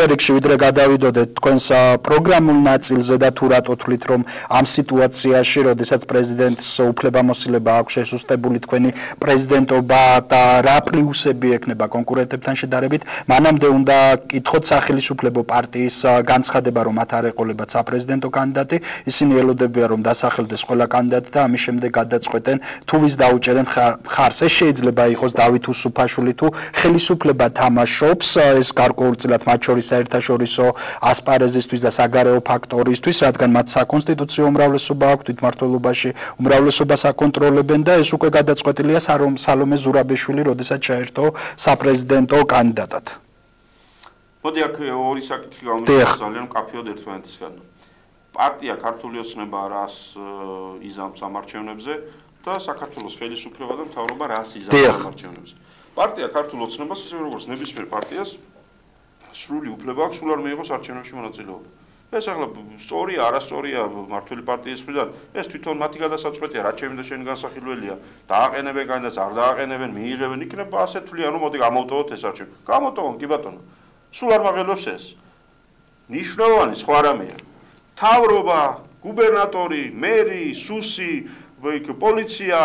პირველ რიგში ვიდრე გადავიდოდეთ თქვენს პროგრამულ ნაწილზე და თუ რატო თვლით რომ ამ სიტუაციაში, როდესაც პრეზიდენტს უფლებამოსილება აქვს შესუსტებული თქვენი პრეზიდენტობა და რა პლუსები ექნება კონკურენტებთან შედარებით, მანამდე უნდა კითხოთ სახელმწიფო პარტიის განცხადება, რომ მათ არ ეყოლებათ საპრეზიდენტო კანდიდატი, ისინი ელოდებიან რომ დასახელდეს ყველა კანდიდატი და ამის შემდეგ გადაწყვეტენ თუ ვის დაუჭერენ ხარს. ეს შეიძლება იყოს დავით უსუფაშვილი თუ ხელისუფლება თამაშობს ეს გარკვეულწილად მათ შორის საერთაშორისო ასპარეზისთვის და საგარეო ფაქტორისთვის, რადგან მათ საკონსტიტუციო უმრავლესობა აქვს, თვითმმართველობაში უმრავლესობას აკონტროლებენ და ეს უკვე გადაწყვეტილია სალომე ზურაბიშვილი, როდესაც ჩაერთო საპრეზიდენტო კანდიდატად. მოდი აქ ორი საკითხი გამოვიდა ძალიან მკაფიოდ ერთმანეთისგან. პარტია ქართული ოცნება რას იზამს ამ არჩევნებზე და საქართველოს ხელისუფლება და მთავრობა რას იზამს ამ არჩევნებზე. პარტია ქართულ ოცნებას ისე როგორც ნებისმიერ პარტიას სრული უფლება აქვს სულ არ მიიღოს არჩევნებში მონაწილეობა. ეს ახლა სწორია, არასწორია მმართველი პარტიის მხრიდან, ეს თვითონ მათი გადასაწყვეტია, რა ჩემი და შენი განსახილველია, დააყენებენ კანდიდატს, არ დააყენებენ, მიიღებენ, იქნება ასე თვლიან, რომ მოდი გამოვტოვოთ ეს არჩევნები. გამოვტოვონ, კი ბატონო. სულ არ მაღელობს ეს. ნიშნავანი სხვა რამეა. მთავრობა, გუბერნატორი, მერი, სუსი, პოლიცია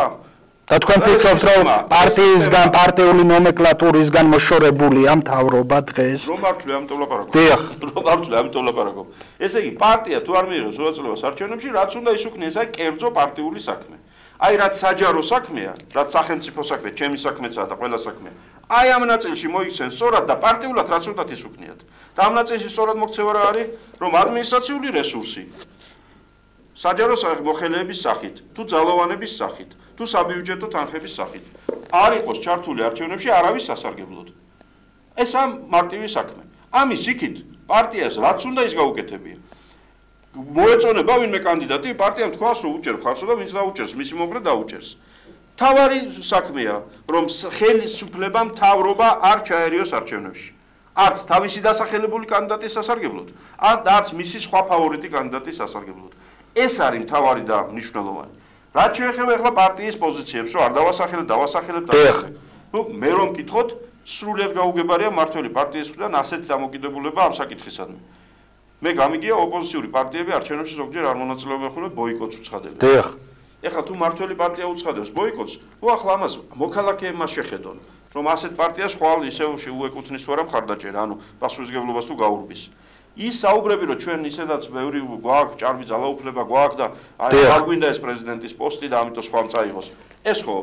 და თქვენ ფიქრობთ რომ პარტიისგან, პარტიული ნომენკლატურისგან მოშორებულია მთავრობა დღეს? რომ მართლა ამიტომ ლაპარაკობ. დიახ. რომ მართლა ამიტომ ლაპარაკობ. ესე იგი, პარტია თუ არ მიიღებს მონაწილეობას არჩევნებში, რაც უნდა ისუქნეს, აი კერძო პარტიული საქმე. აი რაც საჯარო საქმეა, რაც სახელმწიფო საქმე, ჩემი საქმეცაა და ყველა საქმეა. აი ამ ნაწილში მოიქცენ სწორად და პარტიულად რაც უნდა ისუქნიათ. და ამ ნაწილში სწორად მოქცევა რა არის, რომ ადმინისტრაციული რესურსი საჯარო მოხელეების სახით, თუ ძალოვანების სახით, თუ საბიუჯეტო თანხების სახით არ იყოს ჩართული არჩევნებში არავის სასარგებლოდ. ეს ამ მარტივი საქმე. ამის იქით პარტიას რაც უნდა ის გაუკეთებია. მოეწონება ვინმე კანდიდატი, პარტიამ თქვას რომ უჭერ ხარსო და ვინც დაუჭერს, მისი მომხრე დაუჭერს. თავარი საქმეა, რომ ხელისუფლება მთავრობა არ ჩაერიოს არჩევნებში. არც თავისი დასახელებული კანდიდატის სასარგებლოდ, არც მისი სხვა ფავორიტი კანდიდატის სასარგებლოდ. ეს არის მთავარი და მნიშვნელოვანი. რაც შეეხება ახლა პარტიის პოზიციებს, რომ არ დავასახელებ და ნუ მე რომ მკითხოთ, სრულიად გაუგებარია მმართველი პარტიის მხრიდან ასეთ დამოკიდებულება ამ საკითხისადმი. მე გამიგია ოპოზიციური პარტიები არჩევნებში ზოგჯერ არ მონაწილეობენ ხოლმე ბოიკოტს უცხადებენ. დიახ. ეხლა თუ მმართველი პარტია უცხადებს ბოიკოტს, ახლა ამას მოქალაქეებმა შეხედონ, რომ ასეთ პარტიას ხვალ ისევ შეუეკუთვნის თუ არა მხარდაჭერა, ანუ პასუხისმგებლობას თუ გაურბის. ის საუბრები რომ ჩვენ ისედაც ბევრი გვაქვს, ჭარბი ძალაუფლება გვაქვს და არ გვინდა ეს პრეზიდენტის პოსტი და ამიტომ სხვა წაიღოს. ეს ხო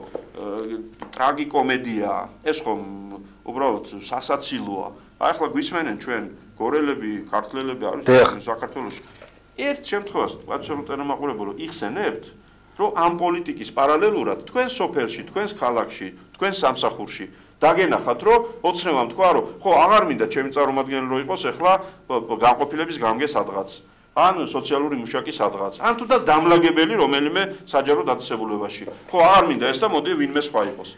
ტრაგიკომედიაა, ეს ხო უბრალოდ სასაცილოა. აი ახლა გვისმენენ ჩვენ გორელები, ქართველები არის საქართველოში. ერთ შემთხვევას პატრიოტული მაყურებო რომ იხსენებთ, რომ ამ პოლიტიკის პარალელურად თქვენ სოფელში, თქვენს ქალაქში, თქვენ სამსახურში დაგენახათ რომ ოცნებამ თქვა რომ ხო აღარ მინდა ჩემი წარმომადგენელი რო იყოს ახლა განყოფილების გამგე სადღაც ან სოციალური მუშაკი სადღაც ან თუნდაც დამლაგებელი რომელიმე საჯარო დაწესებულებაში ხო აღარ მინდა ეს და მოდი ვინმე სხვა იყოს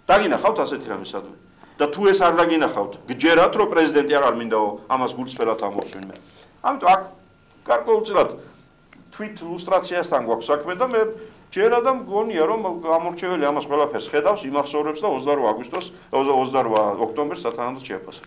დაგინახავთ ასეთი რამე სადმე და თუ ეს არ დაგინახავთ გჯერათ რომ პრეზიდენტი აღარ მინდაო ამას გულწრფელად ამბობს ვინმე ამიტომ აქ გარკვეულწილად თვით ლუსტრაციასთან გვაქვს საქმე და მე ჯერა და მგონია რომ გამორჩეველი ამას ყველაფერს ხედავს იმახსოვრებს და 28 ოქტომბერს სათანადოდ შეაფასებს